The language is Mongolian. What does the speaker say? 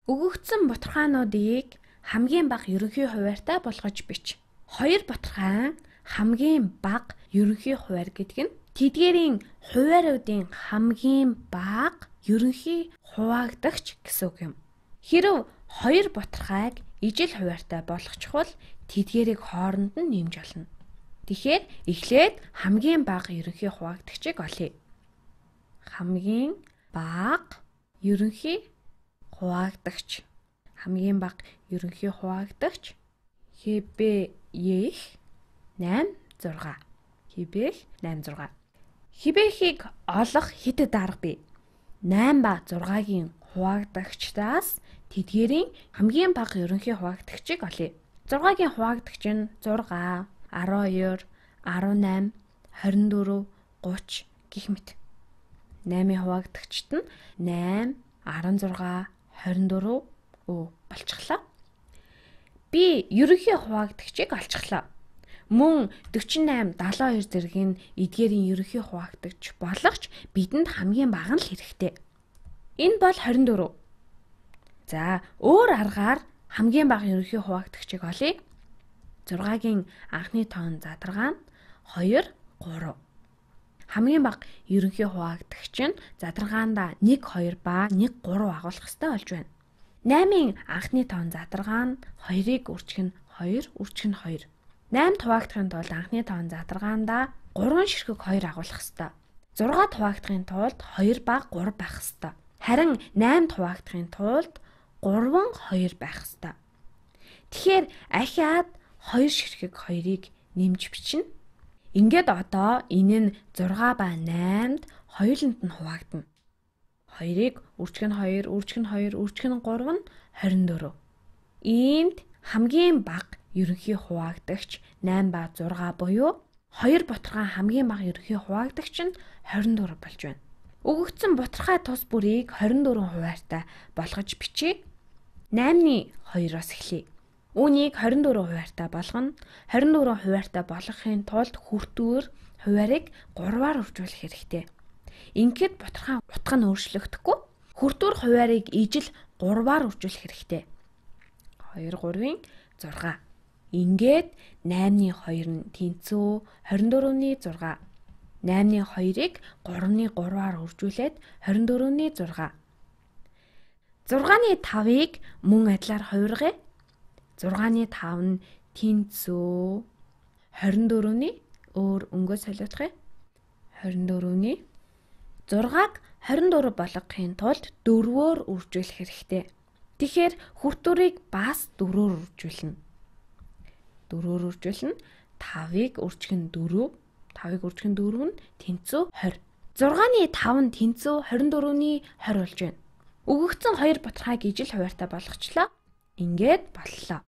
Өгөгдсөн бутархаануудыг хамгийн бага ерөнхий хуваарьтай болгож бич. 2 бутархайн хамгийн бага ерөнхий хуваарь гэдэг нь тэдгээрийн хуваарьуудын хамгийн бага ерөнхий хуваагдагч гэсэн үг юм. Хэрэв 2 бутархайг ижил хуваарьтай болгочихвол тэдгээрийг хооронд нь нэмж олно. Тэгэхээр эхлээд хамгийн бага ерөнхий хуваагдагчийг олъё. Хамгийн бага ерөнхий хуваагдагч. Хамгийн бага ерөнхий хуваагдагч хэбээх 8 6. Хэбээх 8 6. Хэбээхийг олох хэдэд арга бий. 8 ба 6-гийн хуваагдагчдаас тэдгээрийн хамгийн бага ерөнхий хуваагдагчийг олъё. 6-гийн хуваагдагч нь 6, 12, 18, 24, 30 гэх мэт. 8-ийн хуваагдагчд нь 8, 16, 24 болчихлоо. Би ерөнхий хуваагдагчийг олчихлоо. Мөн 48, 72 зэрэг нь эдгээрийн ерөнхий хуваагдагч болгоч бидэнд хамгийн бага нь л хэрэгтэй. Энэ бол 24. За, өөр аргаар хамгийн бага ерөнхий хуваагдагчийг олъё. 6-гийн анхны тоон задаргаа нь 2, 3. Хамгийн бага ерөнхий хуваагдагч нь задаргаандаа 1, 2 ба 1, 3 агуулах ёстой болж байна. 8-ийн анхны тоон задаргаа нь 2-ыг үржих нь 2, үржих нь 2. 8 хуваагдахын тулд анхны тоон задаргаандаа 3 ширхэг 2 агуулах ёстой. 6 хуваагдахын тулд 2 ба 3 байх ёстой. Харин 8 хуваагдахын тулд 3, 2 байх ёстой. Тэгэхээр ахиад 2 ширхэг 2-ыг нэмж бичнэ. Ингээд одоо энэ нь 6 ба 8-д хоёуланд нь хуваагдана. 2-ыг үржих нь 2, үржих нь 2, үржих нь 3 нь 24. Иймд хамгийн бага ерөнхий хуваагдагч 8 ба 6 буюу 2 бутархай хамгийн бага ерөнхий хуваагдагч нь 24 болж байна. Өгөгдсөн бутархай тус бүрийг 24 хуваарьтай болгож бичье. 8-ны 2-оос эхлэе. Үүнийг 24 хуваарьтай болгоно. 24 хуваарьтай болгохын тулд хүртүүр хуваарийг 3-аар үржүүлэх хэрэгтэй. Ингээд бутархай утга нь өөрчлөгдөхгүй. Хүртүүр хуваарийг ижил 3-аар үржүүлэх хэрэгтэй. 2, 3-ийн 6. Ингээд 8-ны 2 нь тэнцүү 24-ний 6. 8-ны 2-ыг 3-ны 3-аар үржүүлээд 24-ний 6. 6-ны 5-ыг мөн адилаар хувиргая. 6-ны 5 нь тэнцүү 24-ний өөр өнгөө солиоцгоё. 24-ний 6-г 24 болгохын тулд 4-өөр үржүүлэх хэрэгтэй. Тэгэхээр хүртүүрийг бас 4-өөр үржүүлнэ. 4-өөр үржүүлнэ. 5-ыг үржих нь 4, 5-ыг үржих нь 4 нь тэнцүү 20. 6-ны 5 нь тэнцүү 24-ний 20 болж байна. Өгөгдсөн 2 бутархайг ижил хуваарьтай болгочлоо. Ингээд боллоо.